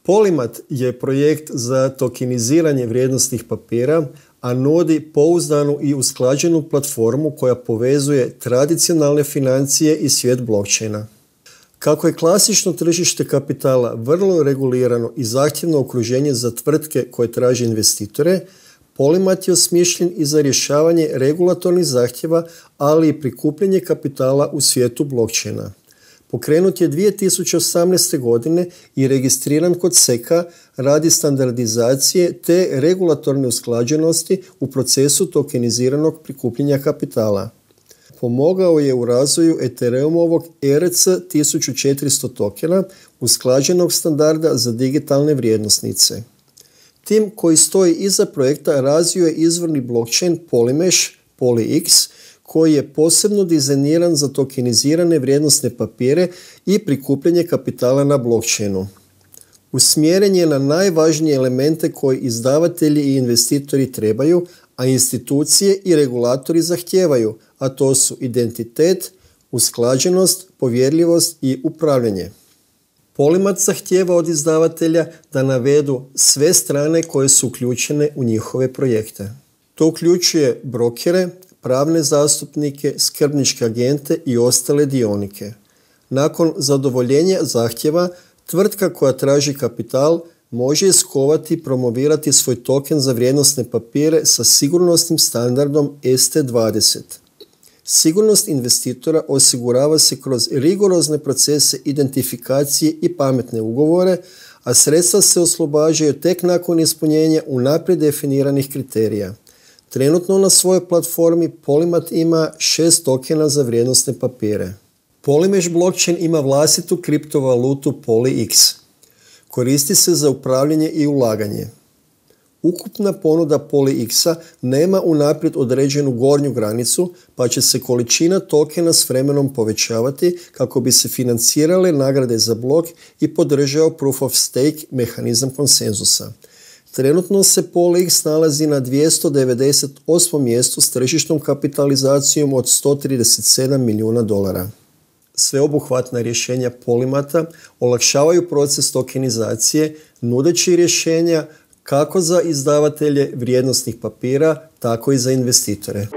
Polymath je projekt za tokeniziranje vrijednosnih papira, a nudi pouzdanu i usklađenu platformu koja povezuje tradicionalne financije i svijet blockchaina. Kako je klasično tržište kapitala vrlo regulirano i zahtjevno okruženje za tvrtke koje traže investitore, Polymath je osmišljen i za rješavanje regulatornih zahtjeva, ali i prikupljanje kapitala u svijetu blockchaina. Pokrenut je 2018. godine i registriran kod SEC-a radi standardizacije te regulatorne usklađenosti u procesu tokeniziranog prikupljanja kapitala. Pomogao je u razvoju Ethereumovog ERC-1400 tokena, usklađenog standarda za digitalne vrijednosnice. Tim koji stoji iza projekta razvio je izvorni blockchain Polymesh, PolyX, koji je posebno dizajniran za tokenizirane vrijednosne papire i prikupljanje kapitala na blockchainu. Usmjeren je na najvažnije elemente koje izdavatelji i investitori trebaju, a institucije i regulatori zahtijevaju, a to su identitet, usklađenost, povjerljivost i upravljanje. Polymath zahtijeva od izdavatelja da navedu sve strane koje su uključene u njihove projekte. To uključuje brokere, pravne zastupnike, skrbničke agente i ostale dionike. Nakon zadovoljenja zahtjeva, tvrtka koja traži kapital može iskovati i promovirati svoj token za vrijednosne papire sa sigurnosnim standardom ST20. Sigurnost investitora osigurava se kroz rigorozne procese identifikacije i pametne ugovore, a sredstva se oslobađaju tek nakon ispunjenja unaprijed definiranih kriterija. Trenutno na svojoj platformi Polymath ima 6 tokena za vrijednosne papire. Polymesh blockchain ima vlastitu kriptovalutu PolyX. Koristi se za upravljanje i ulaganje. Ukupna ponuda PolyX-a nema unaprijed određenu gornju granicu, pa će se količina tokena s vremenom povećavati kako bi se financirale nagrade za blok i podržao proof of stake mehanizam konsenzusa. Trenutno se PolyX nalazi na 298. mjestu s tržišnom kapitalizacijom od $137 milijuna. Sveobuhvatna rješenja Polymatha olakšavaju proces tokenizacije, nudeći rješenja kako za izdavatelje vrijednosnih papira, tako i za investitore.